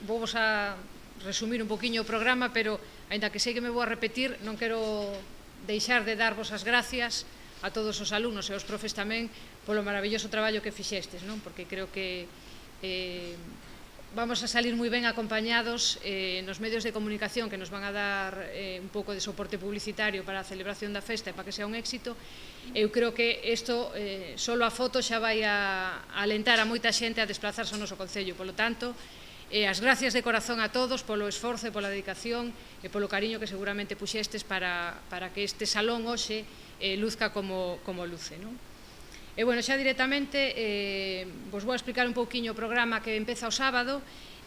vos a resumir un poquinho o programa, pero, aínda que sei que me vou a repetir, non quero deixar de darvos as gracias a todos os alumnos e aos profes tamén polo maravilloso traballo que fixestes, non? Porque creo que vamos a salir moi ben acompañados nos medios de comunicación que nos van a dar un pouco de soporte publicitario para a celebración da festa e para que sea un éxito. Eu creo que isto, solo a foto xa vai a alentar a moita xente a desplazarse ao noso concello. Polo tanto, as gracias de corazón a todos polo esforzo e pola dedicación e polo cariño que seguramente puxestes para que este salón hoxe luzca como luce, non? E, bueno, xa directamente vos vou a explicar un pouquiño o programa que empeza o sábado.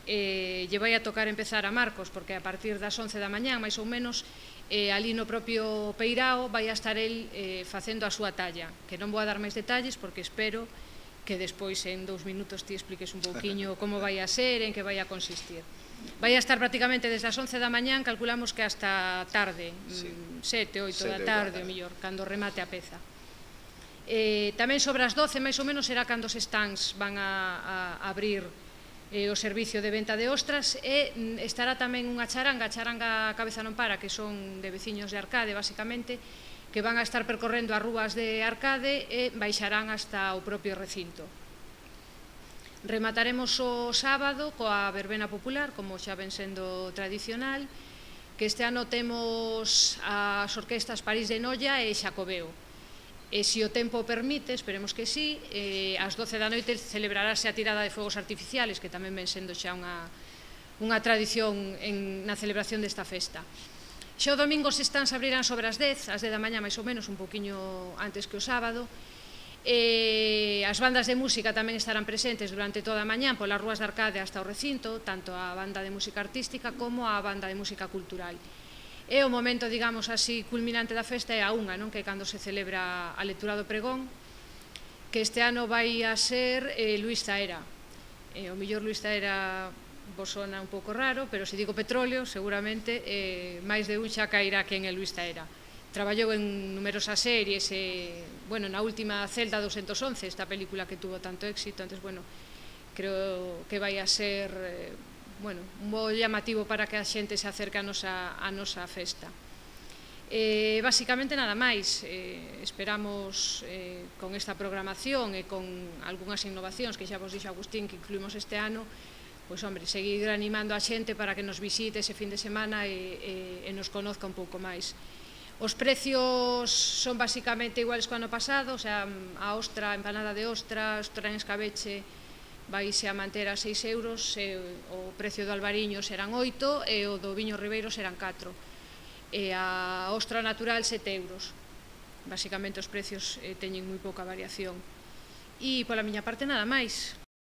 Lle vai a tocar empezar a Marcos, porque a partir das 11 da mañá, máis ou menos, ali no propio Peirao vai a estar el facendo a súa talla, que non vou a dar máis detalles porque espero que despois en 2 minutos ti expliques un pouquiño como vai a ser, en que vai a consistir. Vai a estar prácticamente desde as 11 da mañán, calculamos que hasta tarde, 7, 8 da tarde, o mellor, cando remate a peza. Tamén sobre as 12, máis ou menos, será cando os stands van a abrir o servicio de venta de ostras, e estará tamén unha charanga, a charanga Cabeza non para, que son de veciños de Arcade, basicamente, que van a estar percorrendo as rúas de Arcade e baixarán hasta o propio recinto. Remataremos o sábado coa verbena popular, como xa ven sendo tradicional, que este ano temos as orquestas París de Noia e Xacobeo. E se o tempo permite, esperemos que sí, ás 12 da noite celebrarase a tirada de fogos artificiales, que tamén ven sendo xa unha tradición na celebración desta festa. Xa o domingo os stands abrirán sobre as 10 da mañá, máis ou menos, un poquinho antes que o sábado. As bandas de música tamén estarán presentes durante toda a mañá polas rúas de Arcade hasta o recinto, tanto a banda de música artística como a banda de música cultural. E o momento, digamos así, culminante da festa é a unha, non? Que é cando se celebra a lectura do pregón, que este ano vai a ser Luis Zaera. O mellor Luis Zaera vos sona un pouco raro, pero se digo petróleo, seguramente máis de un xa cairá quen é Luis Zaera. Traballou en numerosas series, bueno, na última Celda 211, esta película que tuvo tanto éxito, entón, bueno, creo que vai a ser, bueno, un bo llamativo para que a xente se acerque a nosa festa. Basicamente nada máis, esperamos con esta programación e con algunhas innovacións que xa vos dixo Agustín que incluímos este ano, pois, hombre, seguir animando a xente para que nos visite ese fin de semana e nos conozca un pouco máis. Os precios son basicamente iguales que o ano pasado, o sea, a ostra, a empanada de ostra, ostra en escabeche, vaise a manter a 6 euros, o precio do albariño serán 8 e o do viño ribeiro serán 4. E a ostra natural 7 euros. Basicamente os precios teñen moi pouca variación. E pola miña parte nada máis.